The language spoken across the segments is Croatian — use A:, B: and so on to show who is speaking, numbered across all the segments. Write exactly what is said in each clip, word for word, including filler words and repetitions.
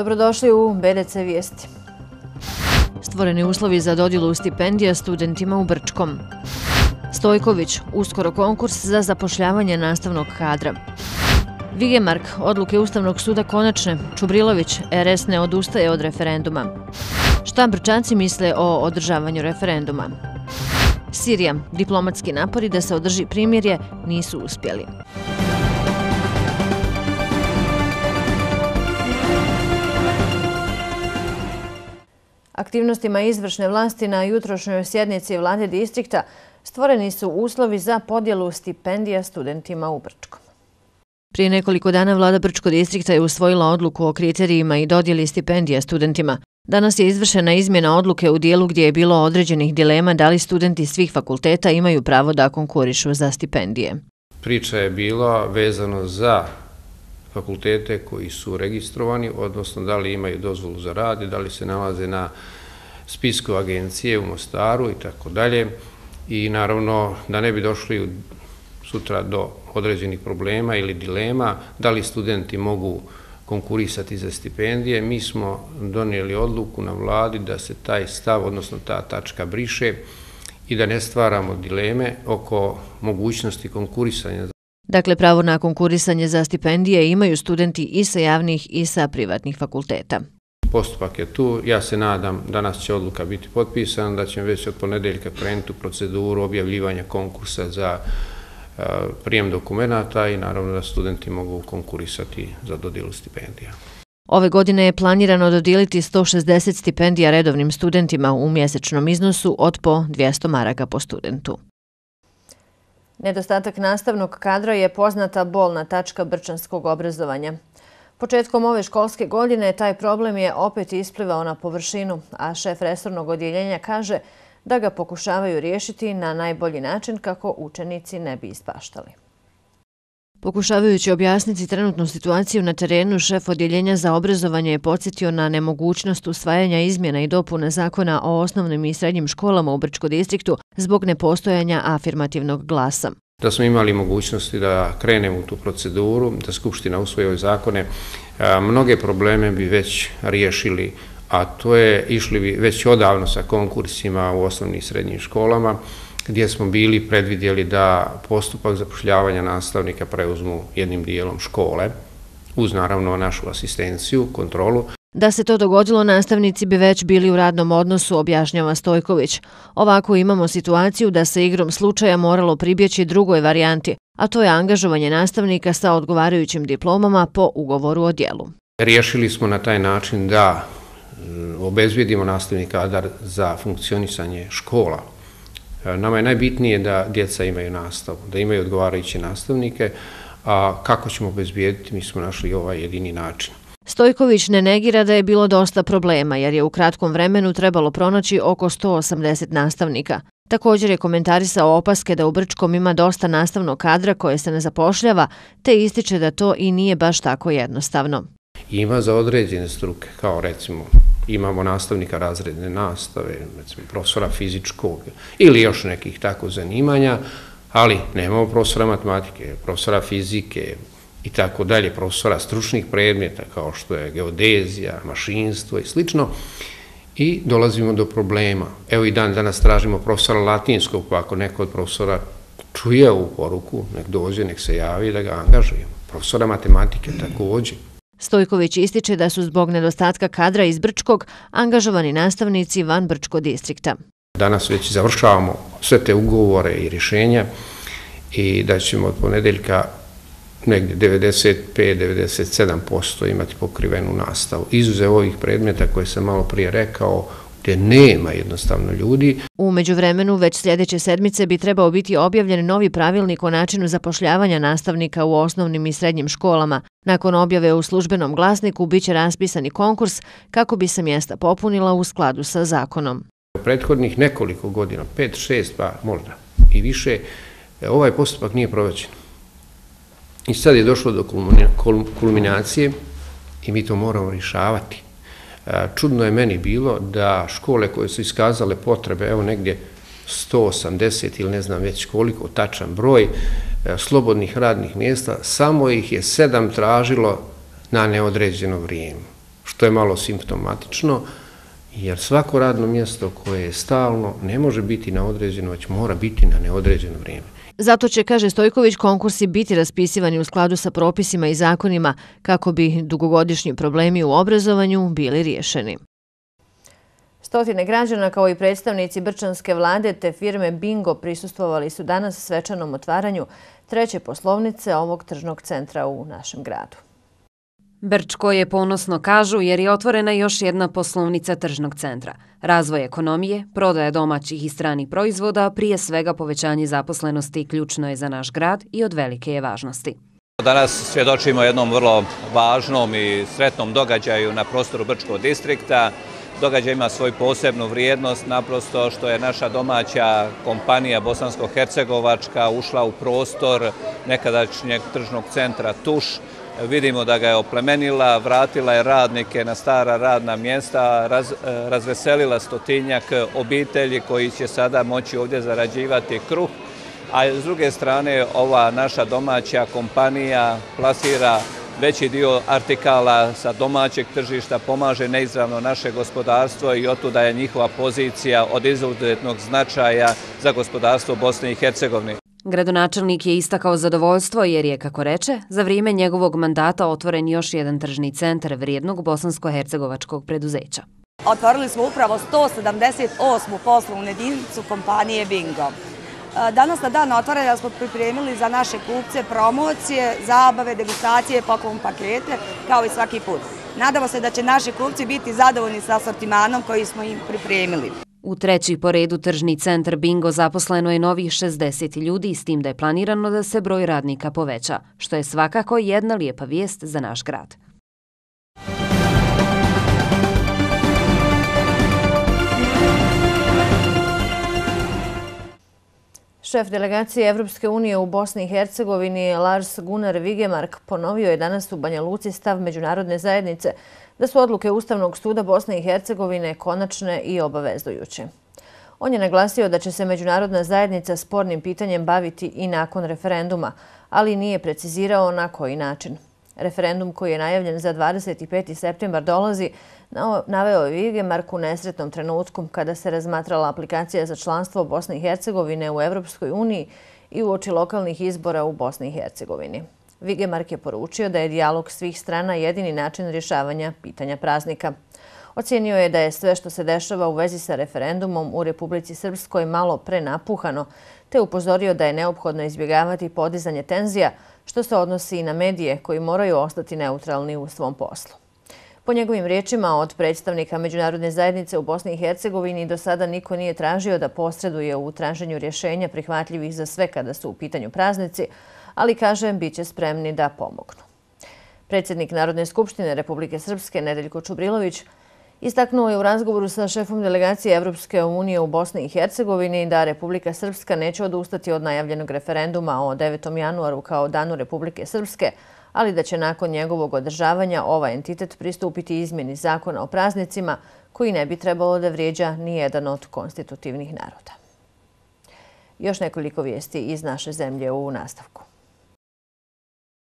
A: Dobrodošli u B D C Vijesti. Stvoreni uslovi za dodjelu stipendija studentima u Brčkom. Stojković, uskoro konkurs za zapošljavanje nastavnog kadra. Vigemark, odluke Ustavnog suda konačne. Čubrilović, R S ne odustaje od referenduma. Šta Brčanci misle o održavanju referenduma? Sirija, diplomatski napori da se održi primirje nisu uspjeli. Aktivnostima izvršne vlasti na jutrošnjoj sjednici vlade distrikta stvoreni su uslovi za podjelu stipendija studentima u Brčkom. Prije nekoliko dana vlada Brčkog distrikta je usvojila odluku o kriterijima i dodjeli stipendija studentima. Danas je izvršena izmjena odluke u dijelu gdje je bilo određenih dilema da li studenti svih fakulteta imaju pravo da konkurišu za stipendije.
B: Priča je bila vezano za fakultete koji su registrovani, odnosno da li imaju dozvolu za rad i da li se nalaze na spisku agencije u Mostaru i tako dalje. I naravno da ne bi došli sutra do određenih problema ili dilema da li studenti mogu konkurisati za stipendije, mi smo donijeli odluku na vladi da se taj stav, odnosno ta tačka briše i da ne stvaramo dileme oko mogućnosti konkurisanja.
A: Dakle, pravo na konkurisanje za stipendije imaju studenti i sa javnih i sa privatnih fakulteta.
B: Postupak je tu, ja se nadam danas će odluka biti potpisana, da ćemo već od ponedeljka krenuti u proceduru objavljivanja konkursa za prijem dokumenata i naravno da studenti mogu konkurisati za dodjelu stipendija.
A: Ove godine je planirano dodijeliti sto šezdeset stipendija redovnim studentima u mjesečnom iznosu od po dvjesto maraka po studentu. Nedostatak nastavnog kadra je poznata bolna tačka brčanskog obrazovanja. Početkom ove školske godine taj problem je opet isplivao na površinu, a šef resornog odjeljenja kaže da ga pokušavaju riješiti na najbolji način kako učenici ne bi ispaštali. Pokušavajući objasniti trenutnu situaciju na terenu, šef odjeljenja za obrazovanje je podsjetio na nemogućnost usvajanja izmjena i dopuna zakona o osnovnim i srednjim školama u Brčkom distriktu zbog nepostojanja afirmativnog glasa.
B: Da smo imali mogućnosti da krenemo u tu proceduru, da Skupština usvoji ove zakone, mnoge probleme bi već riješili, a to je išli bi već odavno sa konkursima u osnovnim i srednjim školama, gdje smo bili predvidjeli da postupak zapošljavanja nastavnika preuzmu jednim dijelom škole, uz naravno našu asistenciju, kontrolu.
A: Da se to dogodilo, nastavnici bi već bili u radnom odnosu, objašnjava Stojković. Ovako imamo situaciju da se igrom slučaja moralo pribjeći drugoj varijanti, a to je angažovanje nastavnika sa odgovarajućim diplomama po ugovoru o djelu.
B: Riješili smo na taj način da obezbijedimo nastavni kadar za funkcionisanje škola. Nama je najbitnije da djeca imaju nastavu, da imaju odgovarajuće nastavnike, a kako ćemo obezbijediti, mi smo našli ovaj jedini način.
A: Stojković ne negira da je bilo dosta problema, jer je u kratkom vremenu trebalo pronaći oko sto osamdeset nastavnika. Također je komentarisao opaske da u Brčkom ima dosta nastavnog kadra koje se ne zapošljava, te ističe da to i nije baš tako jednostavno.
B: Ima za određene struke, kao recimo imamo nastavnika razredne nastave, recimo profesora fizičkog ili još nekih tako zanimanja, ali nemamo profesora matematike, profesora fizike i tako dalje, profesora stručnih predmeta kao što je geodezija, mašinstvo i slično. I dolazimo do problema. Evo i dan danas tražimo profesora latinskog, pa ako neko od profesora čuje ovu poruku, nek dođe, nek se javi da ga angažujemo. Profesora matematike također.
A: Stojković ističe da su zbog nedostatka kadra iz Brčkog angažovani nastavnici van Brčkog distrikta.
B: Danas već završavamo sve te ugovore i rješenja i da ćemo od ponedeljka negdje devedeset pet do devedeset sedam posto imati pokrivenu nastavu. Izuzev ovih predmeta koje sam malo prije rekao, gdje nema jednostavno ljudi.
A: U međuvremenu, već sljedeće sedmice bi trebao biti objavljen novi pravilnik o načinu zapošljavanja nastavnika u osnovnim i srednjim školama. Nakon objave u službenom glasniku biće raspisani konkurs kako bi se mjesta popunila u skladu sa zakonom.
B: U prethodnih nekoliko godina, pet, šest, pa možda i više, ovaj postupak nije provođen. I sad je došlo do kulminacije i mi to moramo rješavati. Čudno je meni bilo da škole koje su iskazale potrebe, evo negdje sto osamdeset ili ne znam već koliko tačan broj slobodnih radnih mjesta, samo ih je sedam tražilo na neodređeno vrijeme. To je malo simptomatično, jer svako radno mjesto koje je stalno ne može biti na određeno, već mora biti na neodređeno vrijeme.
A: Zato će, kaže Stojković, konkursi biti raspisivani u skladu sa propisima i zakonima kako bi dugogodišnji problemi u obrazovanju bili riješeni. Stotine građana kao i predstavnici brčanske vlade te firme Bingo prisustvovali su danas svečanom otvaranju treće poslovnice ovog tržnog centra u našem gradu.
C: Brčko je ponosno, kažu, jer je otvorena još jedna poslovnica tržnog centra. Razvoj ekonomije, prodaja domaćih i stranih proizvoda, prije svega povećanje zaposlenosti ključno je za naš grad i od velike je važnosti.
D: Danas svjedočimo jednom vrlo važnom i sretnom događaju na prostoru Brčkog distrikta. Događaj ima svoju posebnu vrijednost, naprosto što je naša domaća kompanija bosansko-hercegovačka ušla u prostor nekadašnjeg tržnog centra Tuš. Vidimo da ga je oplemenila, vratila je radnike na stara radna mjesta, raz, razveselila stotinjak obitelji koji će sada moći ovdje zarađivati kruh. A s druge strane, ova naša domaća kompanija plasira veći dio artikala sa domaćeg tržišta, pomaže neizravno naše gospodarstvo i otuda je njihova pozicija od izuzetnog značaja za gospodarstvo Bosne i Hercegovine.
C: Gradonačelnik je istakao zadovoljstvo jer je, kako reče, za vrijeme njegovog mandata otvoren još jedan tržni centar vrijednog bosansko-hercegovačkog preduzeća.
E: Otvorili smo upravo sto sedamdeset osmu poslovnu jedinicu kompanije Bingo. Danas na dan otvaranja smo pripremili za naše kupce promocije, zabave, degustacije, poklon pakete, kao i svaki put. Nadamo se da će naši kupci biti zadovoljni sa asortimanom koji smo im pripremili.
C: U treći po redu tržni centar Bingo zaposleno je novih šezdeset ljudi, s tim da je planirano da se broj radnika poveća, što je svakako jedna lijepa vijest za naš grad.
A: Šef delegacije Evropske unije u Bosni i Hercegovini Lars Gunnar Vigemark ponovio je danas u Banja Luci stav međunarodne zajednice da su odluke Ustavnog suda Bosne i Hercegovine konačne i obavezujuće. On je naglasio da će se međunarodna zajednica spornim pitanjem baviti i nakon referenduma, ali nije precizirao na koji način. Referendum koji je najavljen za dvadeset peti septembar dolazi, naveo je Vigemark u nesretnom trenutku kada se razmatrala aplikacija za članstvo Bosne i Hercegovine u Evropskoj uniji i uoči lokalnih izbora u Bosni i Hercegovini. Vigemark je poručio da je dijalog svih strana jedini način rješavanja pitanja praznika. Ocijenio je da je sve što se dešava u vezi sa referendumom u Republici Srpskoj malo prenapuhano, te upozorio da je neophodno izbjegavati podizanje tenzija, što se odnosi i na medije koji moraju ostati neutralni u svom poslu. Po njegovim riječima, od predstavnika međunarodne zajednice u Bosni i Hercegovini do sada niko nije tražio da posreduje u traženju rješenja prihvatljivih za sve kada su u pitanju praznici, ali, kaže, bit će spremni da pomognu. Predsjednik Narodne skupštine Republike Srpske Nedeljko Čubrilović istaknuo je u razgovoru sa šefom delegacije Evropske unije u Bosni i Hercegovini da Republika Srpska neće odustati od najavljenog referenduma o devetom januaru kao danu Republike Srpske, ali da će nakon njegovog održavanja ovaj entitet pristupiti izmjeni zakona o praznicima koji ne bi trebalo da vrijeđa ni jedan od konstitutivnih naroda. Još nekoliko vijesti iz naše zemlje u nastavku.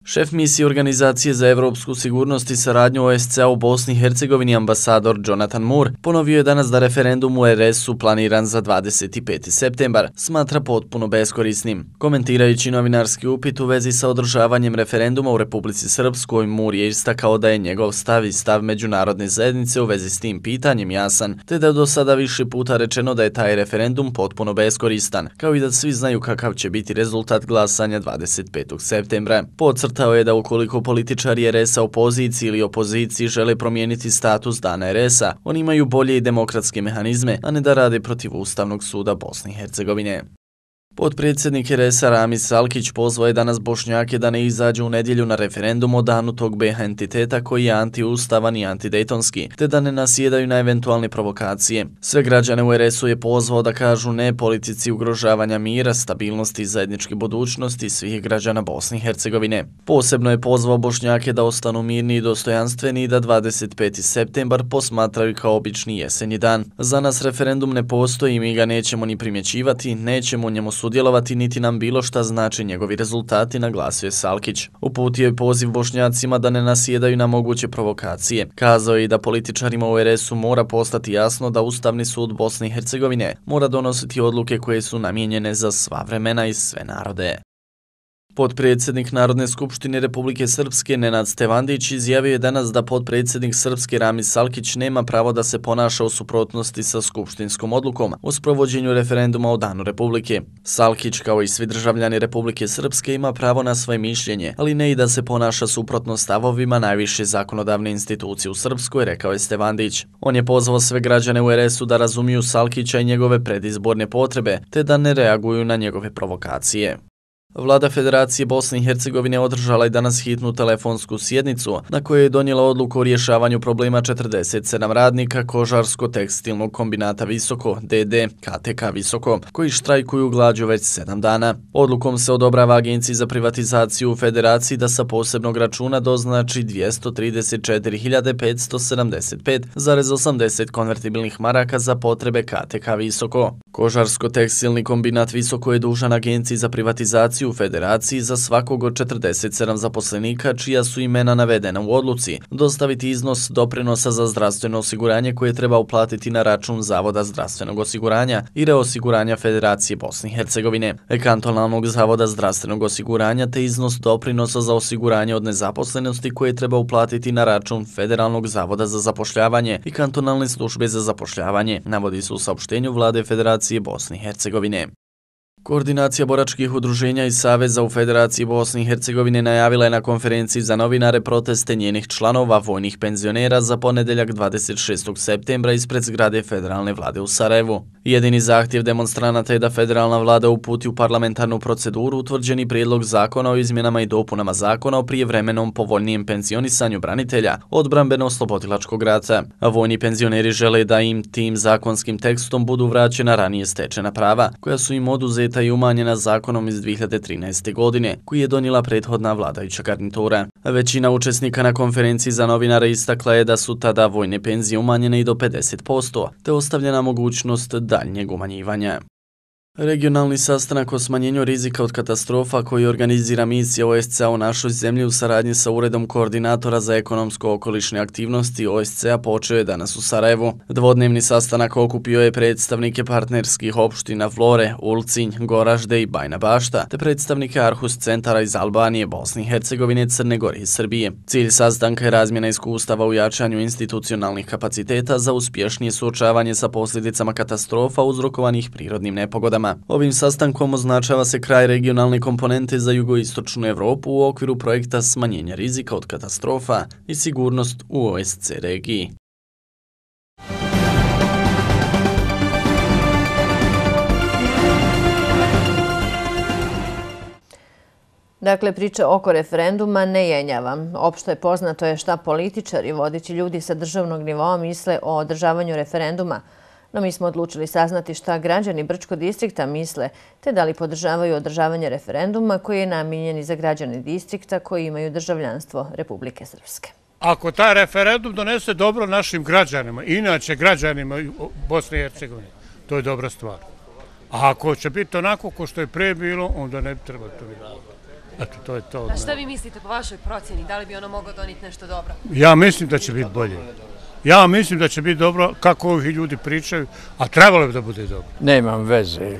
F: Šef misije Organizacije za evropsku sigurnost i saradnju O S C A u Bosni i Hercegovini ambasador Jonathan Moore ponovio je danas da referendum u R S-u planiran za dvadeset peti septembar smatra potpuno beskorisnim. Komentirajući novinarski upit u vezi sa održavanjem referenduma u Republici Srpskoj, Moore je istakao da je njegov stav i stav međunarodne zajednice u vezi s tim pitanjem jasan, te da je do sada više puta rečeno da je taj referendum potpuno beskoristan, kao i da svi znaju kakav će biti rezultat glasanja dvadeset petog septembra. Podcrtao je da ukoliko političari R S-a u poziciji ili opoziciji žele promijeniti status dana R S-a, oni imaju bolje i demokratske mehanizme, a ne da rade protiv Ustavnog suda Bosne i Hercegovine. Potpredsjednik R S-a Ramis Salkić pozvao je danas Bošnjake da ne izađu u nedjelju na referendum o danu tog B H entiteta koji je antiustavan i antidejtonski, te da ne nasjedaju na eventualne provokacije. Sve građane u R S-u je pozvao da kažu ne politici ugrožavanja mira, stabilnosti i zajedničke budućnosti svih građana Bosne i Hercegovine. Posebno je pozvao Bošnjake da ostanu mirni i dostojanstveni i da dvadeset peti septembar posmatraju kao obični jesenji dan. Za nas referendum ne postoji i mi ga nećemo ni primjećivati, nećemo njemu sudjelovati sudjelovati niti nam bilo šta znači njegovi rezultati, naglasio je Salkić. Uputio je poziv Bošnjacima da ne nasjedaju na moguće provokacije. Kazao je i da političarima u er es u mora postati jasno da Ustavni sud Bosne i Hercegovine mora donositi odluke koje su namijenjene za sva vremena i sve narode. Potpredsjednik Narodne skupštine Republike Srpske Nenad Stevandić izjavio je danas da potpredsjednik Srpske Ramiz Salkić nema pravo da se ponaša u suprotnosti sa skupštinskom odlukom o sprovođenju referenduma o Danu Republike. Salkić, kao i svi državljani Republike Srpske, ima pravo na svoje mišljenje, ali ne i da se ponaša suprotno stavovima najviše zakonodavne institucije u Srpskoj, rekao je Stevandić. On je pozvao sve građane u er es u da razumiju Salkića i njegove predizborne potrebe, te da ne reaguju na njegove provokacije. Vlada Federacije Bosne i Hercegovine održala je danas hitnu telefonsku sjednicu na kojoj je donijela odluku o rješavanju problema četrdeset sedam radnika Kožarsko-tekstilnog kombinata Visoko, de de ka te ka Visoko, koji štrajkuju glađu već sedam dana. Odlukom se odobrava Agenciji za privatizaciju u Federaciji da sa posebnog računa doznači dvjesto trideset četiri hiljade petsto sedamdeset pet zarez osamdeset konvertibilnih maraka za potrebe ka te ka Visoko. Kožarsko-tekstilni kombinat Visoko je dužan Agenciji za privatizaciju u Federaciji za svakog od četrdeset sedam zaposlenika čija su imena navedena u odluci dostaviti iznos doprinosa za zdravstveno osiguranje koje treba uplatiti na račun Zavoda zdravstvenog osiguranja i reosiguranja Federacije Bosne i Hercegovine, kantonalnog Zavoda zdravstvenog osiguranja te iznos doprinosa za osiguranje od nezaposlenosti koje treba uplatiti na račun Federalnog zavoda za zapošljavanje i kantonalne službe za zapošljavanje, navodi se u saopštenju Vlade Federacije Bosne i Hercegovine. Koordinacija boračkih udruženja i saveza u Federaciji Bosne i Hercegovine najavila je na konferenciji za novinare proteste njenih članova vojnih penzionera za ponedeljak dvadeset šestog septembra ispred zgrade federalne vlade u Sarajevu. Jedini zahtjev demonstranata je da federalna vlada uputi u parlamentarnu proceduru utvrđeni prijedlog zakona o izmjenama i dopunama zakona o prijevremenom povoljnijem penzionisanju branitelja odbrambeno-oslobodilačkog rata. A vojni penzioneri žele da im tim zakonskim tekstom budu vraćena ranije stečena prava, koja su im oduzeta i umanjena zakonom iz dvije hiljade trinaeste. godine, koji je donijela prethodna vladajuća garnitura. Većina učesnika na konferenciji za novinare istakla je da su tada vojne penzije umanjene i do pedeset posto, te ostavljena mogućnost daljnjeg umanjivanja. Regionalni sastanak o smanjenju rizika od katastrofa koji organizira misija o es ce a u našoj zemlji u saradnji sa Uredom koordinatora za ekonomsko-okolišne aktivnosti o es ce a počeo je danas u Sarajevu. Dvodnevni sastanak okupio je predstavnike partnerskih opština Vlore, Ulcinj, Goražde i Bajna Bašta, te predstavnike Arhus centara iz Albanije, Bosne i Hercegovine, Crne Gore i Srbije. Cilj sastanka je razmjena iskustava u jačanju institucionalnih kapaciteta za uspješnije suočavanje sa posljedicama katastrofa uzrokovanih prirodnim nepogodama. Ovim sastankom označava se kraj regionalne komponente za jugoistočnu Evropu u okviru projekta smanjenja rizika od katastrofa i sigurnost u o es ce regiji.
A: Dakle, priča oko referenduma ne jenjava. Opšto je poznato je šta političari, vodeći ljudi sa državnog nivoa misle o održavanju referenduma, no mi smo odlučili saznati šta građani Brčkog distrikta misle, te da li podržavaju održavanje referenduma koji je namijenjen za građane distrikta koji imaju državljanstvo Republike Srpske.
G: Ako taj referendum donese dobro našim građanima, inače građanima Bosne i Hercegovine, to je dobra stvar. A ako će biti onako ko što je pre bilo, onda ne treba to biti. Eto, to je to.
C: A šta vi mislite po vašoj procjeni? Da li bi ono moglo doniti nešto dobro?
G: Ja mislim da će biti bolje. Ja mislim da će biti dobro kako ovi ljudi pričaju, a trebalo bi da bude dobro.
H: Nemam veze.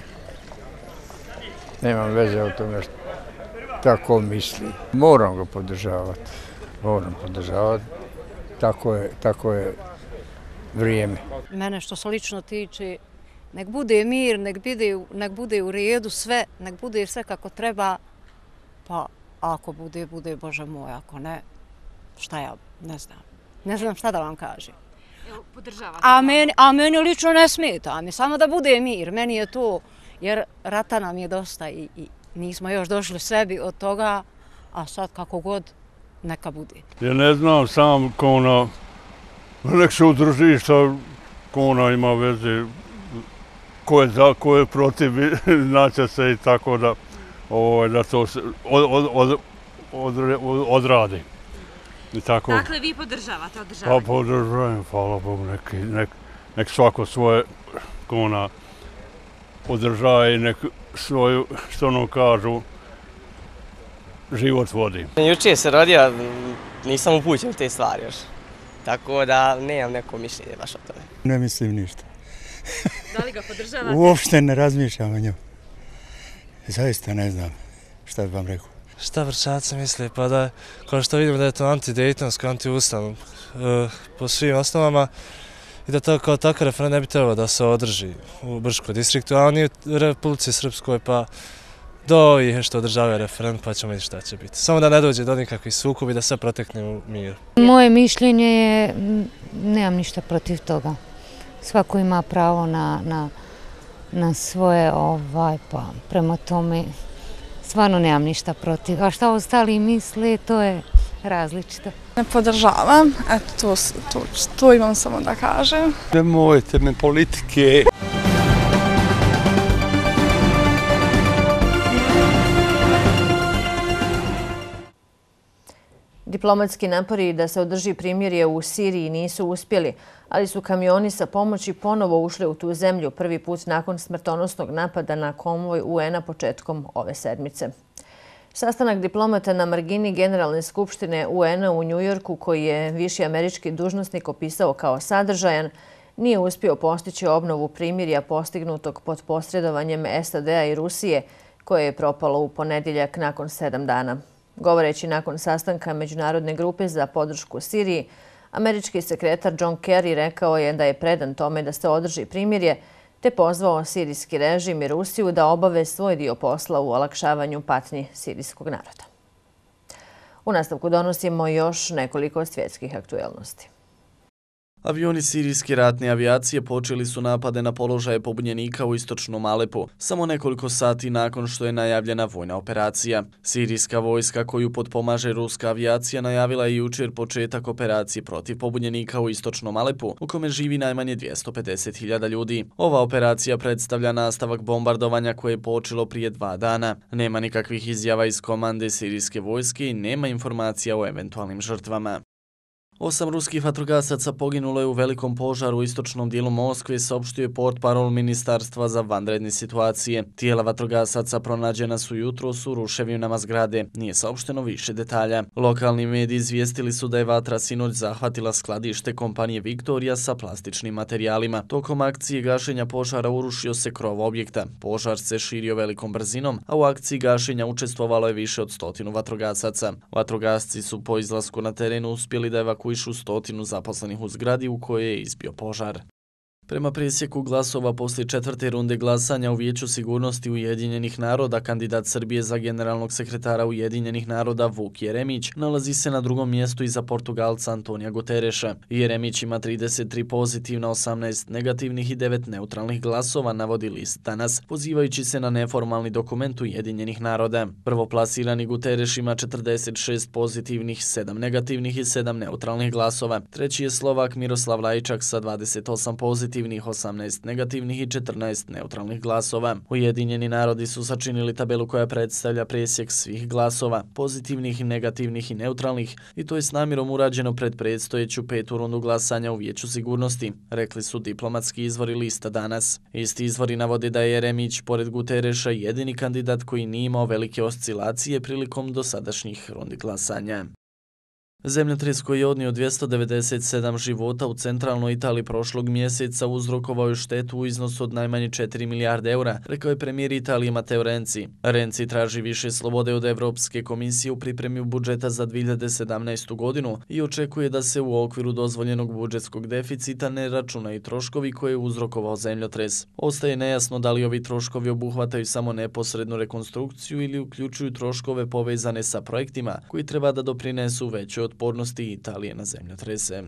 H: Nemam veze o tome što tako misli. Moram ga podržavati. Moram podržavati. Tako je, tako je vrijeme.
I: Mene što se lično tiče, nek bude mir, nek bude, nek bude u redu sve, nek bude sve kako treba, pa ako bude, bude, Bože moj, ako ne, šta ja, ne znam. Ne znam šta da vam kažem. A meni, a meni lično ne smeta, mi samo da bude mir, meni je to, jer rata nam je dosta i, i nismo još došli sebi od toga, a sad kako god, neka bude.
J: Ja ne znam sam ko ona, nek se udruži šta ko ona ima veze, ko je za, ko je protiv, znaće se i tako da, ovo, da to se od, od, od, od, od, odradi. Tako,
C: dakle, vi podržavate održavanje?
J: Pa podržavam, hvala Bogu, nek, nek, nek svako svoje kona održava i nek svoju, što ono kažu, život vodi.
K: Jučer se rodio, nisam upućen u te stvari još. Tako da nemam neko mišljenje baš o tome.
L: Ne mislim ništa.
C: Da li ga podržavate?
L: Uopšte ne razmišljam o njom. Zaista ne znam šta bi vam rekao.
M: Šta Vršaci misle? Pa da, kao što vidim da je to antidejtonsko, antiustavno po svim osnovama i da to kao takav referendum ne bi trebalo da se održi u Brčkom distriktu, a ni u Republici Srpskoj, pa do ovih što održavaju referendum, pa ćemo vidjeti šta će biti. Samo da ne dođe do nikakvih sukobi, da sve protekne u miru.
N: Moje mišljenje je, nemam ništa protiv toga. Svako ima pravo na, na, na svoje, ovaj, pa prema tome stvarno nemam ništa protiv. A šta ostali misle, to je različito.
O: Ne podržavam, eto to, to, to imam samo da kažem.
J: Nemojte me politike.
A: Diplomatski napori da se održi primirje u Siriji nisu uspjeli, ali su kamioni sa pomoći ponovo ušli u tu zemlju prvi put nakon smrtonosnog napada na konvoj U N-a početkom ove sedmice. Sastanak diplomata na margini Generalne skupštine U N-a u Njujorku, koji je viši američki dužnosnik opisao kao sadržajan, nije uspio postići obnovu primirja postignutog pod posredovanjem S A D-a i Rusije, koje je propalo u ponedjeljak nakon sedam dana. Govoreći nakon sastanka Međunarodne grupe za podršku Siriji, američki sekretar John Kerry rekao je da je predan tome da se održi primirje, te pozvao sirijski režim i Rusiju da obave svoj dio posla u olakšavanju patnji sirijskog naroda. U nastavku donosimo još nekoliko svjetskih aktuelnosti.
F: Avioni sirijske ratne avijacije počeli su napade na položaje pobunjenika u istočnom Alepu, samo nekoliko sati nakon što je najavljena vojna operacija. Sirijska vojska koju potpomaže ruska avijacija najavila je jučer početak operacije protiv pobunjenika u istočnom Alepu, u kome živi najmanje dvjesto pedeset hiljada ljudi. Ova operacija predstavlja nastavak bombardovanja koje je počelo prije dva dana. Nema nikakvih izjava iz komande sirijske vojske i nema informacija o eventualnim žrtvama. Osam ruskih vatrogasaca poginulo je u velikom požaru u istočnom dijelu Moskve, saopštio je portparol Ministarstva za vanredne situacije. Tijela vatrogasaca pronađena su jutros u ruševinama zgrade. Nije saopšteno više detalja. Lokalni mediji izvijestili su da je vatra sinoć zahvatila skladište kompanije Viktorija sa plastičnim materijalima. Tokom akcije gašenja požara urušio se krov objekta. Požar se širio velikom brzinom, a u akciji gašenja učestvovalo je više od stotinu vatrogasaca. Vatrogasci su po izlasku na terenu uspjeli da evakuiraju išu stotinu zaposlenih u zgradi u kojoj je izbio požar. Prema presjeku glasova poslije četvrte runde glasanja u Vijeću sigurnosti Ujedinjenih naroda, kandidat Srbije za generalnog sekretara Ujedinjenih naroda Vuk Jeremić nalazi se na drugom mjestu iza Portugalca Antonija Gutereša. Jeremić ima trideset tri pozitivna, osamnaest negativnih i devet neutralnih glasova, navodi list Danas, pozivajući se na neformalni dokument Ujedinjenih naroda. Prvoplasirani Gutereš ima četrdeset šest pozitivnih, sedam negativnih i sedam neutralnih glasova. Treći je Slovak Miroslav Lajčak sa dvadeset osam pozitivnih, osamnaest negativnih i četrnaest neutralnih glasova. Ujedinjeni narodi su sačinili tabelu koja predstavlja presjek svih glasova, pozitivnih, negativnih i neutralnih, i to je s namjerom urađeno pred predstojeću petu rundu glasanja u Vijeću sigurnosti, rekli su diplomatski izvori lista Danas. Isti izvori navode da je Jeremić, pored Gutereša, jedini kandidat koji nije imao velike oscilacije prilikom dosadašnjih rundi glasanja. Zemljotres koji je odnio dvjesto devedeset sedam života u centralnoj Italiji prošlog mjeseca uzrokovao je štetu u iznosu od najmanje četiri milijarde eura, rekao je premijer Italije Matteo Renzi. Renzi traži više slobode od Evropske komisije u pripremi budžeta za dvije hiljade sedamnaestu. godinu i očekuje da se u okviru dozvoljenog budžetskog deficita ne računaju troškovi koje je uzrokovao zemljotres. Ostaje nejasno da li ovi troškovi obuhvataju samo neposrednu rekonstrukciju ili uključuju troškove povezane sa projektima koji treba da doprinesu većoj otpornosti Italije na zemljotrese.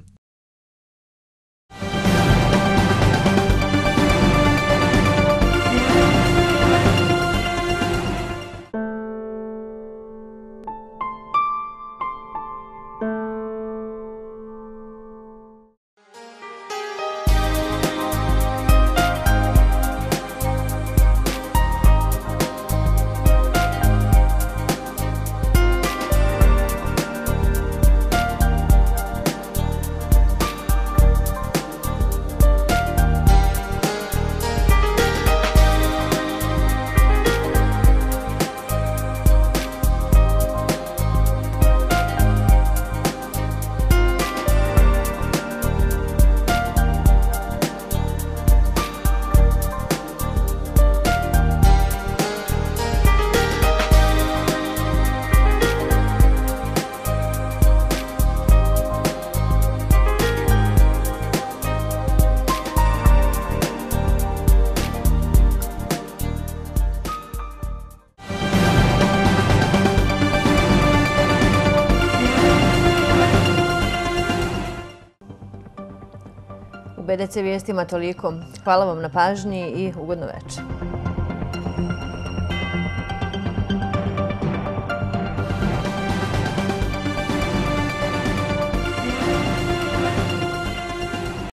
A: B D C vijestima toliko. Hvala vam na pažnji i ugodno večer.